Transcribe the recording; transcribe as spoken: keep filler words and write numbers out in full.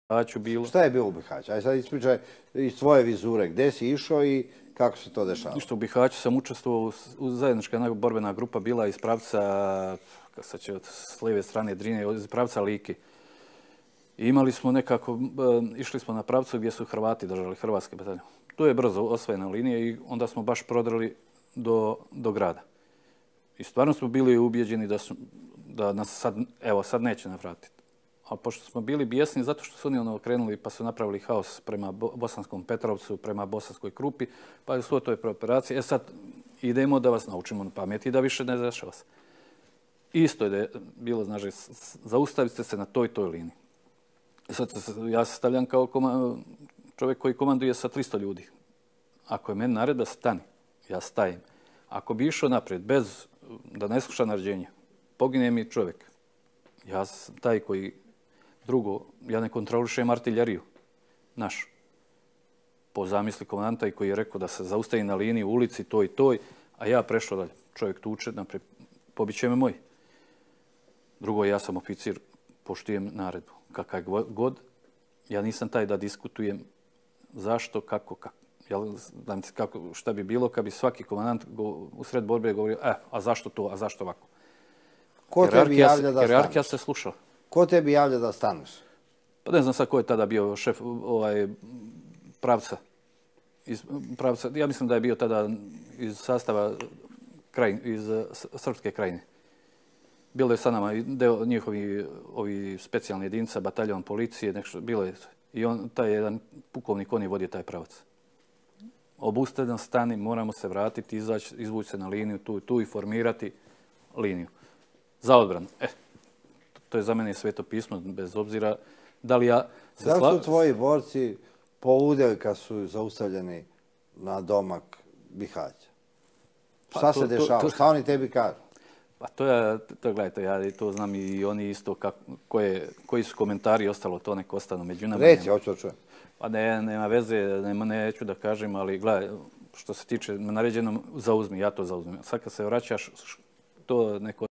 Bihaću bilo. Šta je bilo u Bihaću? Ajde sad ispričaj iz tvoje vizure, gdje si išao i kako se to dešava? Ništa, u Bihaću sam učestvovao u zajednička borbena grupa bila iz pravca, sad će s lijeve strane Drine, iz pravca Like. I imali smo nekako, išli smo na pravcu gdje su Hrvati držali, hrvatske batalje. Tu je brzo osvojena linija i onda smo baš prodrli do, do grada. I stvarno smo bili ubijeđeni da, su, da nas sad, evo, sad neće navratiti. A pošto smo bili bijesni zato što su oni ono krenuli pa su napravili haos prema Bosanskom Petrovcu, prema Bosanskoj Krupi, pa je svo to je operacije. E sad idemo da vas naučimo na pameti i da više ne dešava se. Isto je bilo, znači, zaustavite se na toj toj liniji. Sad ja se stavljam kao čovjek koji komanduje sa tristo ljudi. Ako je meni naredba stani, ja stajem. Ako bi išao naprijed bez da ne sluša naređenja, pogine mi čovjek. Ja sam taj koji drugo, ja ne kontrolišem artiljeriju našu. Po zamisli komandanta i koji je rekao da se zaustavi na liniji u ulici toj i toj, a ja prešao dalje. Čovjek tuče, naprijed, pobiće me moj. Drugo, ja sam oficir, poštujem naredbu. Kakav god, ja nisam taj da diskutujem zašto, kako, kako. kako šta bi bilo kad bi svaki komandant u sred borbe govorio, e, a zašto to, a zašto ovako. Ko tebi javlja da staneš? Hijerarhija se slušala. Ko tebi javlja da staneš? Pa ne znam sad ko je tada bio šef ovaj, pravca. Iz, pravca. Ja mislim da je bio tada iz sastava kraj, iz Srpske krajine. Bilo je sa nama deo njihovi ovi specijalni jedinica, bataljon policije, nešto, bilo je. I on, taj jedan pukovnik, on je vodio taj pravac. Obustavljam stani, moramo se vratiti, izaći, izvući se na liniju, tu, tu i formirati liniju. Za odbranu. E, to je za mene sveto pismo, bez obzira da li ja... Da li su tvoji borci poludjeli kad su zaustavljeni na domak Bihaća? Šta se dešava? Šta oni tebi kažu? Pa to je, to gledajte, ja to znam i oni isto kako, koje, koji su komentari ostalo, to nek ostanu među nama. Reci, hoću da čujem. Pa ne, nema veze, nema, neću da kažem, ali gledaj, što se tiče naređenom, zauzmi, ja to zauzmem. Sad kad se vraćaš, to neko